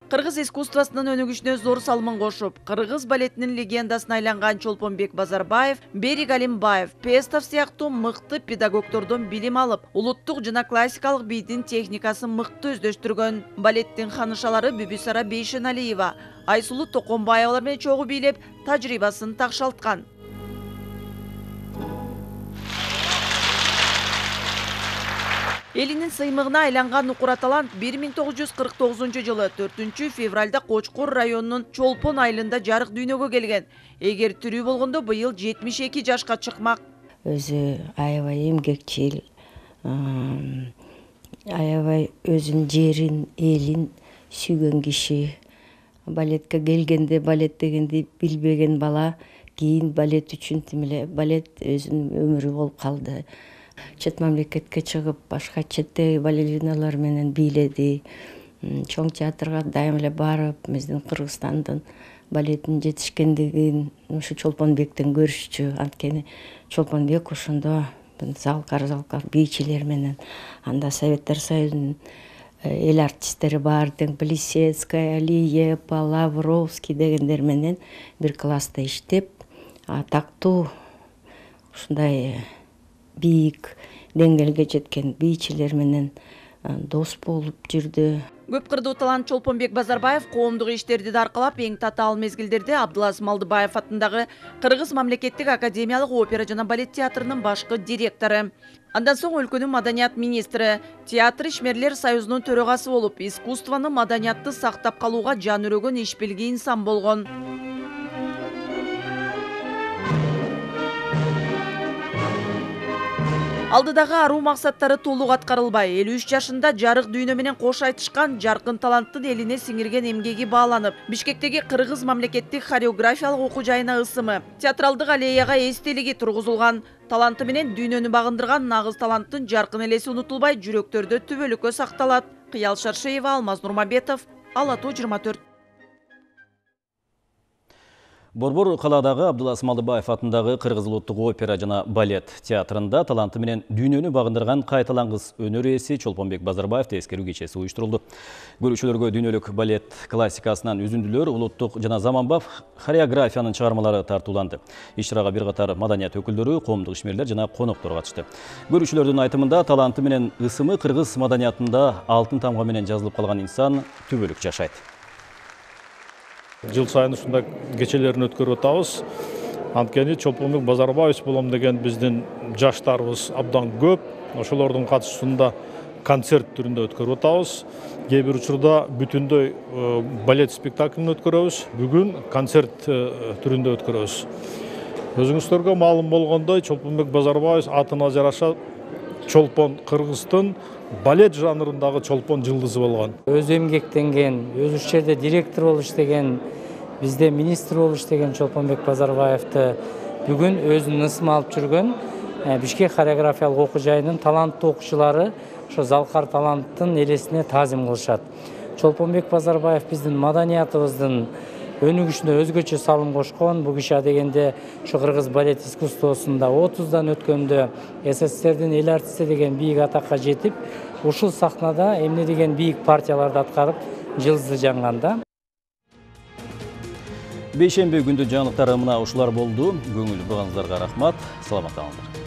Кыргыз искусствосунун өнүгүшүнө зор салымын кошуп, кыргыз балетинин легендасына айланган Чолпонбек Базарбаев, Берик Алимбаев, Пестов сыяктуу мыкты педагогдордон билим алып, улуттук жана классикалык бийдин техникасын мыкты өздөштүргөн. Балеттин ханышалары Бүбүсара Бейшеналиева, Айсулу Токонбаевалар менен чогуу бийлеп, тажрыйбасын такшалткан. Элинин сыймыгына айланган укура талант 1949 жылы 4 февралда Кочкор районунун Чолпон айылында жарык дүйнөгө келген. Эгер тирүү болгондо быйыл 72 жашка чыкмак. Өзү аябай эмгекчил, аябай өзүнүн жерин, элин сүйгөн киши. Балетке келгенде балет дегенди билбеген бала, кийин балет үчүн тимеле балет өзүнүн өмүрү болуп калды. Чет мамлекетке чыгып, башка четтеги балериналар менен бийледи. Чоң театрга дайым эле барып, биздин Кыргызстандын балетинин жетишкендигин ушу Чолпонбектен көрүшчү. Анткени Чолпонбек ошондо залкар бийчилер менен, анда Советтер Союзунун эл артисттери бар, Плисецкая, Алиепа, Лавровский дегендер менен бир класста иштеп, атактуу ушундай бийик деңгээлге жеткен бийчилер менен дос болуп жүрдү. Көп кырдуу талант Чолпонбек Базарбаев коомдук иштерди да аркалап, эң татаал мезгилдерде Абдулаз Малдыбаев атындагы Кыргыз мамлекеттик академиялык опера жана балет театрынын башкы директору. Андан соң өлкөнүн маданият министри, театр ишмерлер союзунун төрагасы болуп, искусствону, маданиятты сактап калууга жан өрөгөн иш билген инсан болгон. Алдыдагы аруу максаттары толук аткарылбай, 53 жашында жарык дүйнө менен кош айтышкан жаркын таланттын элине сиңирген эмгеги бааланып, Бишкектеги Кыргыз мамлекеттик хореографиялык окуу жайына ысымы, театралдык аллеяга эстелиги тургузулган. Таланты менен дүйнөнү багындырган нагыз таланттын жаркын элеси унутулбай, жүрөктөрдө түбөлүккө сакталат. Кыял Шаршеева, Алмаз Нурмабетов, Ала Тоо 24. Борбор калаадагы Абдулаз Малдыбаев атындагы Кыргыз улуттук опера жана балет театрында таланты менен дүйнөнү багындырган кайталангыс өнөр ээси Чолпонбек Базарбаевди эскерүү кечеси уюштурулду. Көрүүчүлөргө дүйнөлүк балет классикасынан үзүндүлөр, улуттук жана заманбап хореографиянын чыгармалары тартууланды. Иш-чарага бир катар маданият өкүлдөрү, коомдук ишмерлер жана коноктор катышты. Көрүүчүлөрдүн айтымында таланты менен ысымы кыргыз маданиятында алтын тамга менен жазылып калган инсан түбөлүк жашайт. Жыл сайын ушундай кечелерин өткөрүп атабыз. Анткени Чолпонбек Базарбаев болом деген биздин жаштарыбыз абдан көп. Ошолордун катышуусунда концерт түрүндө өткөрүп атабыз. Кээ бир учурда бүтүндөй балет спектаклин өткөрөбүз. Бүгүн концерт түрүндө өткөрөбүз. Өзүңүздөргө маалым болгондой, Чолпонбек Базарбаев атына жараша Чолпон Кыргыздын балет жанрындагы чолпон жылдызы болгон. Өзү эмгектенген, өзү ушул жерде директор болуп иштеген, бизде министр болуп иштеген Чолпонбек Базарбаевди бүгүн өзүнүн ысымы алып жүргөн Бишкек хореографиялык окуу жайынын таланттуу окуучулары ошо залкар таланттын элесине таазим кылышат. Чолпонбек Базарбаев биздин маданиятыбыздын өнүгүшүнө өзгөчө салым кошкон. Бул киши адегенде ушу кыргыз балет искусствосунда 30дан өткөндө СССРдин эл артисти деген бийик атакка жетип, ушул сахнада эмне деген бийик партияларды аткарып жылдызы жанганда. Бейшемби күндүн жаңылыктары мына ушулар болду. Көңүл бурганыңыздарга рахмат. Саламатта калыңыздар.